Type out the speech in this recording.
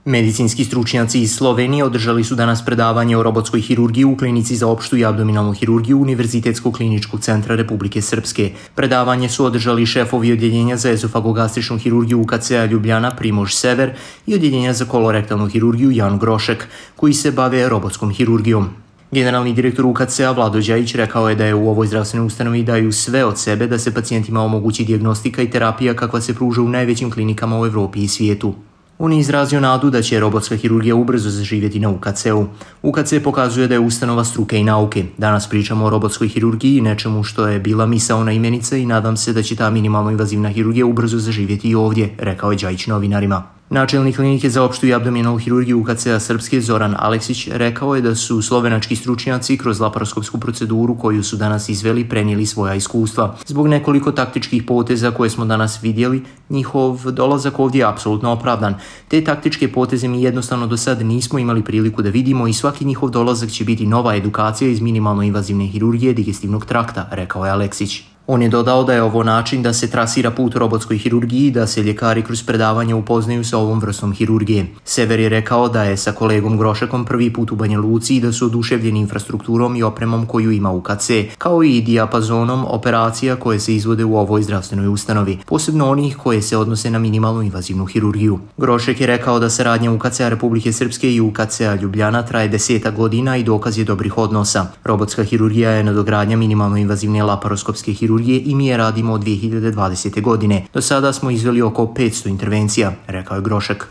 Medicinski stručnjaci iz Slovenije održali su danas predavanje o robotskoj hirurgiji u klinici za opštu i abdominalnu hirurgiju Univerzitetskog kliničkog centra Republike Srpske. Predavanje su održali šefovi odjeljenja za ezofagogastričnu hirurgiju UKC-a Ljubljana Primož Sever i odjeljenja za kolorektalnu hirurgiju Jan Grošek, koji se bave robotskom hirurgijom. Generalni direktor UKC-a Vlado Đajić rekao je da je u ovoj zdravstvenoj ustanovi daju sve od sebe da se pacijentima omogući dijagnostika i terapija kakva se pruža u najvećim klinikama u Evropi i svijetu. On je izrazio nadu da će robotska hirurgija ubrzo zaživjeti na UKC-u. UKC pokazuje da je ustanova struke i nauke. Danas pričamo o robotskoj hirurgiji i nečemu što je bila misaona imenica i nadam se da će ta minimalno invazivna hirurgija ubrzo zaživjeti i ovdje, rekao je Đajić novinarima. Načelnik klinike za opštu i abdominalnu hirurgiju UKC-a Srpske Zoran Aleksić rekao je da su slovenački stručnjaci kroz laparoskopsku proceduru koju su danas izveli prenijeli svoja iskustva. Zbog nekoliko taktičkih poteza koje smo danas vidjeli, njihov dolazak ovdje je apsolutno opravdan. Te taktičke poteze mi jednostavno do sad nismo imali priliku da vidimo i svaki njihov dolazak će biti nova edukacija iz minimalno invazivne hirurgije digestivnog trakta, rekao je Aleksić. On je dodao da je ovo način da se trasira put robotskoj hirurgiji i da se ljekari kroz predavanje upoznaju sa ovom vrstom hirurgije. Sever je rekao da je sa kolegom Grošekom prvi put u Banja Luci i da su oduševljeni infrastrukturom i opremom koju ima UKC, kao i dijapazonom operacija koje se izvode u ovoj zdravstvenoj ustanovi, posebno onih koje se odnose na minimalnu invazivnu hirurgiju. Grošek je rekao da saradnja UKC-a Republike Srpske i UKC-a Ljubljana traje 10 godina i dokaz je dobrih odnosa. Robotska hirurgija je nadogradnja minimalno invazivne laparoskopske hirurgije i mi je radimo od 2020. godine. Do sada smo izveli oko 500 intervencija, rekao je Grošek.